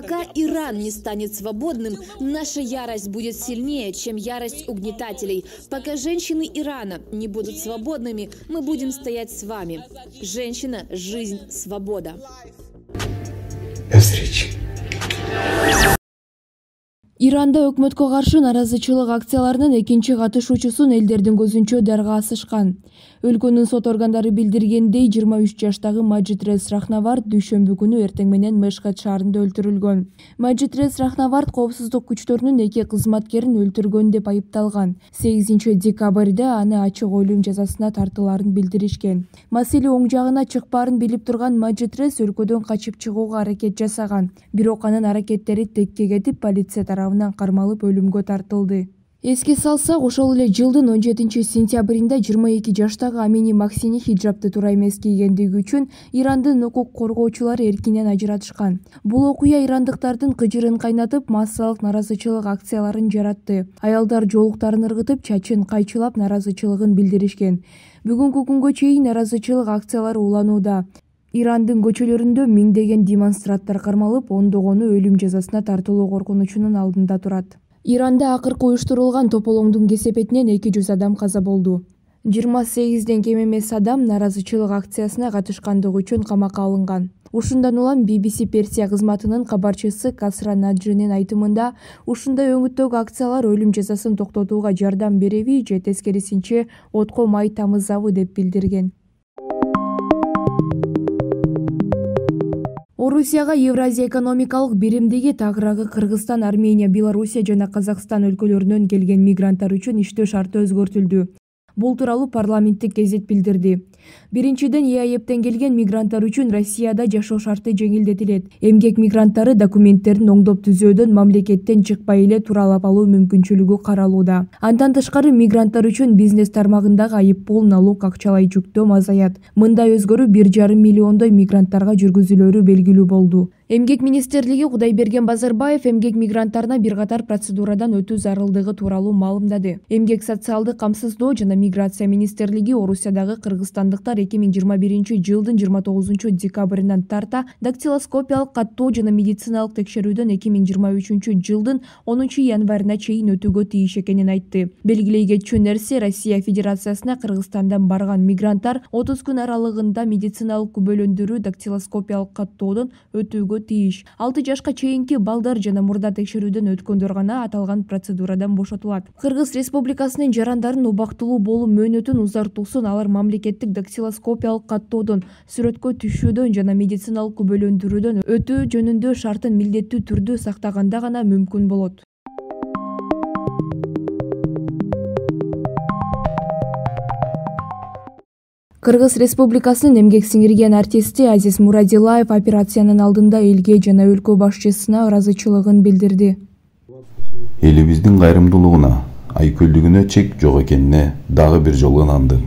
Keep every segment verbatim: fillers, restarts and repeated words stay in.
Пока Иран не станет свободным, наша ярость будет сильнее, чем ярость угнетателей. Пока женщины Ирана не будут свободными, мы будем стоять с вами. Женщина, жизнь, свобода. До встречи. Иранда өкмөткө каршы наразычылык акцияларынын экинчи катышуучусун элдердин көзүнчө дарга асышкан. Өлкөнүн сот органдары билдиргендей, жыйырма үч жаштагы Маджидрез Рахнавард дүйшөмбү күнү эртең менен Мешхед шаарында өлтүрүлгөн. Маджидрез Рахнавард коопсуздук күчтөрүнүн эки кызматкерин өлтүргөн деп айыпталган. сегизинчи декабрда аны ачык өлүм жазасына тартылаарын билдиришкен. Маселе оң жагына чыкпаарын билип турган Маджидрез өлкөдөн качып чыгууга аракет жасаган. Бирок анын аракеттери текке кетип, полиция тарабынан кармалып өлүмгө тартылды. Эске салсак, ошол эле жылдын он жетинчи сентябрында жыйырма эки жаштагы Амини Максини хиджабты туура эмес кийгендиги үчүн Ирандын укук коргоочулары эркинен ажыратышкан. Бул окуя ирандыктардын кыжырын кайнатып, массалык наразычылык акцияларын жаратты. Аялдар жоолуктарын ыргытып, чачын кайчылап наразычылыгын билдиришкен. Бүгүнкү күнгө чейин наразычылык акциялары уланууда. Ирандын көчөлөрүндө миңдеген демонстранттар кармалып, ондогону өлүм жазасына тартылуу коркунучунун алдында турат. Иранда акыркы уюштурулган тополоңдун кесепетинен эки жүз адам каза болду. жыйырма сегизден кем эмес адам наразычылык акциясына катышкандыгы үчүн камакка алынган. Ушундан улам би би си Персия кызматынын кабарчысы Касра Наджинин айтымында, ушундай өңүттөгү акциялар өлүм жазасын токтотууга жардам береби же тескерисинче отко май тамызабы деп билдирген. Орусияга Евразия экономикалык биримдиги тагыраагы Кыргызстан, Армения, Белоруссия жана Казакстан өлкөлөрүнөн келген мигранттар үчүн иштөө шарты өзгөртүлдү. Бул тууралуу парламенттик гезит билдирди. Биринчиден, ЕАЭптен келген мигранттар үчүн Россияда жашоо шарты жеңилдетилет. Эмгек мигранттары документтерин оңдоп түзөөдөн мамлекеттен чыкпай эле туралап алуу мүмкүнчүлүгү каралууда. Андан тышкары, мигранттар үчүн бизнес тармагындагы айыппул, налог, акчалай жүктөм азаят. Мындай өзгөрүү бир жарым миллиондой мигранттарга жүргүзүлөрү белгилүү болду. Эмгек министрлиги Кудайберген Базарбаев эмгек мигранттарына бир катар процедурадан өтүү зарылдыгы тууралуу маалымдады. Эмгек социалдык камсыздоо жана миграция министрлиги Орусиядагы кыргызстандыктар эки миң жыйырма биринчи жылдын жыйырма тогузунчу декабрынан тарта дактилоскопиялык каттоо жана медициналык текшерүүдөн эки миң жыйырма үчүнчү жылдын онунчу январына чейин өтүүгө тийиш экенин айтты. Белгилей кетчү нерсе, Россия Федерациясына Кыргызстандан барган мигранттар отуз күн аралыгында медициналык күбөлөндүрүү дактилоскопиялык каттоодон өтүүгө тийиш. алты жашка чейинки балдар жана мурда текшерүүдөн өткөндөр гана аталган процедурадан бошотулат. Кыргыз Республикасынын жарандарын убактылуу болуу мөөнөтүн узартуусун алар мамлекеттик дактилоскопиялык каттоодон, сүрөткө түшүүдөн жана медициналык күбөлөндүрүүдөн өтүү жөнүндө шартын милдеттүү түрдө сактаганда гана мүмкүн болот. Кыргыз Республикасынын эмгек сиңирген артисти Азиз Мурадилаев операциянын алдында элге жана өлкө башчысына ыраазычылыгын билдирди. Элибиздин кайрымдуулугуна, айкөлдүгүнө чек жок экенине дагы бир жолу ынандым.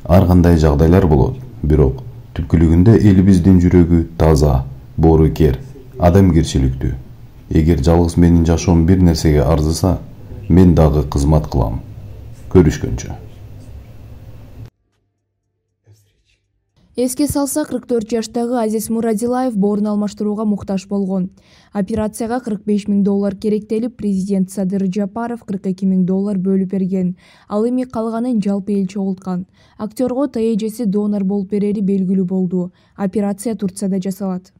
Ар кандай жагдайлар болот, бирок түпкүлүгүндө элибиздин жүрөгү таза, боорукер, адамгерчиликтүү. Эгер жалгыз менин жашоом бир нерсеге арзыса, мен дагы кызмат кылам. Көрүшкөнчө. Эске салсак, кырк төрт жаштагы Азиз Мурадилаев боорун алмаштырууга муктаж болгон. Операцияга кырк беш миң доллар керектелип, президент Садыр Жапаров кырк эки миң доллар бөлүп берген. Ал эми калганын жалпы эл чогулткан. Актёрго Т эжеси донор болуп берери белгилүү болду. Операция Турцияда жасалат.